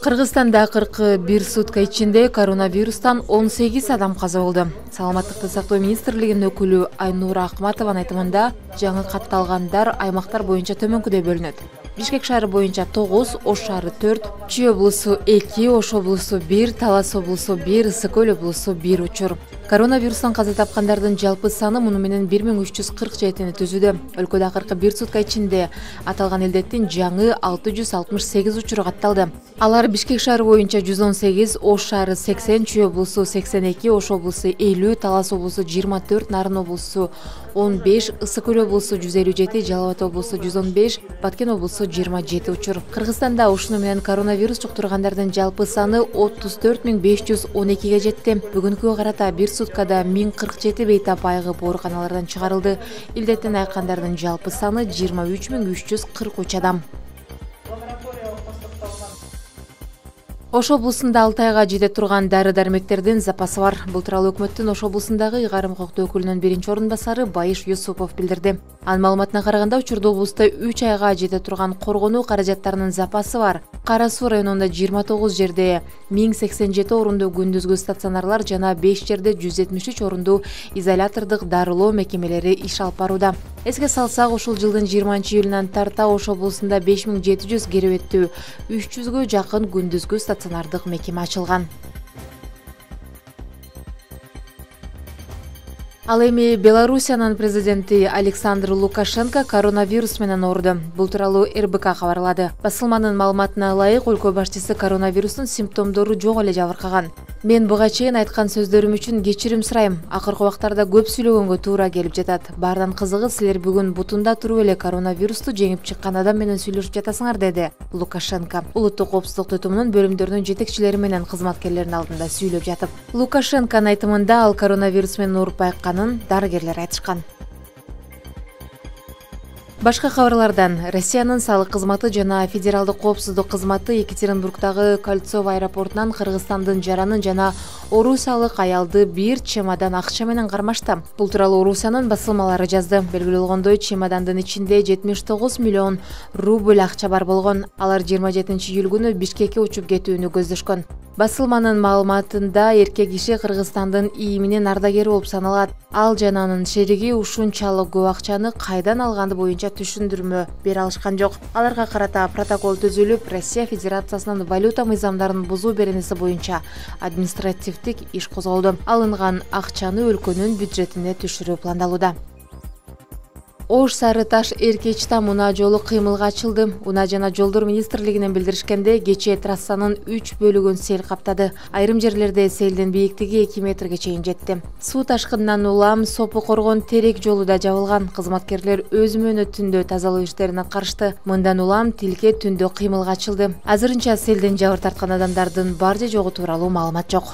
Кыргызстанда 41 сутка ичинде коронавирустан 18 адам каза болду. Саламаттыкты сактоо министрлигинин өкүлү Айнура Акматованын айтымында, жаңы катталгандар аймактар боюнча төмөнкүдөй бөлүнөт. Бишкек шаары боюнча 9, Ош шаары 4, Чүй облусу 2, Ош облусу 1, Талас облусу 1, Ысык Көл облусу 1 учур. Коронавирустан каза тапкандардын жалпы саны муну менен 1347-ни түзүүдө. Өлкөдө акыркы 1 сутка ичинде аталган илдеттин жаңы 668 учуру катталды. Алар Бишкек шаары боюнча 118, Ош шаары 80, Чүй облусу 82, Ош облусу 50, Талас облусу 24, Нарын облусу 15, Ысык Көл облусу 157, Жалал Абад облусу 115, Баткен облусу 27 учур. Кыргызстанда ушуну менен коронавирус жуктургандардын жалпы саны 34512ге жетти. Бүгүнкүгө карата 1 суткада 1047 бейтап айыгып ооруканалардан чыгарылды. Илдеттен айыккандардын жалпы саны 23343 адам. Ош облусунда 6 айга жете турган дары-дармектердин запасы бар. Бул тууралуу өкмөттүн Ош облусундагы ыйгарым укуктуу өкүлүнүн биринчи орун басары Байыш Юсупов билдирди. Анын маалыматына караганда, учурда облуста 3 айга жете турган коргонуу каражаттарынын запасы бар. Кара Суу районунда 29 жерде 1087 орундуу күндүзгү стационарлар жана 5 жерде 173 орундуу изолятордук дарылоо мекемелери иш алып барууда. Эске салсак, ушул жылдын 20-июлунан тарта Ош облусунда 5700 керебеттүү 300гө жакын күндүзгү стационардык мекеме ачылган. Ал эми Белоруссиянын президенти Александр Лукашенко коронавирус менен ооруду. Бул тууралуу РБК кабарлады. Басылманын маалыматына ылайык, өлкө башчысы коронавирустун симптомдору жок эле жабыркаган. Мен буга чейин айткан сөздөрүм үчүн кечирим сурайм. Акыркы убактарда көп сүйлөгөнгө туура келип жатат. Баардан кызыгы, силер бүгүн бутунда туруп эле коронавирусту жеңип чыккан адам менен сүйлөшүп жатасыңар, деди Лукашенко. Улуттук коопсуздук түтүмүнүн бөлүмдөрүнүн жетекчилери менен кызматкерлеринин алдында сүйлөп жатып. Лукашенконун айтымында, ал коронавирус менен ооруп айыкканын дарыгерлер айтышкан. Башка кабарлардан: Россиянын салык кызматы жана федералдык коопсуздук кызматы Екатеринбургдагы Кольцово аэропортунан Кыргызстандын жаранын жана орусиялык аялды бир чемодан акча менен кармашты. Бул тууралуу Орусиянын басылмалары жазды. Белгилүү болгондой, чемодандын ичинде 79 миллион рубль акча бар болгон. Алар 27-июль күнү Бишкекке учуп кетүүнү көздөшкөн. Басылманын маалыматында, эркек киши Кыргызстандын ИИМинин ардагери болуп саналат. Ал жана анын шериги ушунчалык көп акчаны кайдан алганды боюнча түшүндүрмө бере алышкан жок. Аларга карата протокол түзүлүп, Россия Федерациясынын валюта мыйзамдарын бузуу беренеси боюнча административдик иш козголду. Алынган акчаны өлкөнүн бюджетине түшүрүү пландалууда. Ош Сары Таш Эркеч Там унаа жолу кыймылга ачылды. Унаа жана жолдор министрлигинен билдиришкенде, кечээ трассанын 3 бөлүгүн сел каптады. Айрым жерлерде селдин бийиктиги 2 метрге чейин жетти. Суу ташкынынан улам Сопу Коргон Терек жолу да жабылган. Кызматкерлер өз мөөнөтүндө тазалоо иштерин аткарышты. Мындан улам Тилке түндө кыймылга ачылды. Азырынча селден жабыр тарткан адамдардын бар же жогу тууралуу маалымат жок.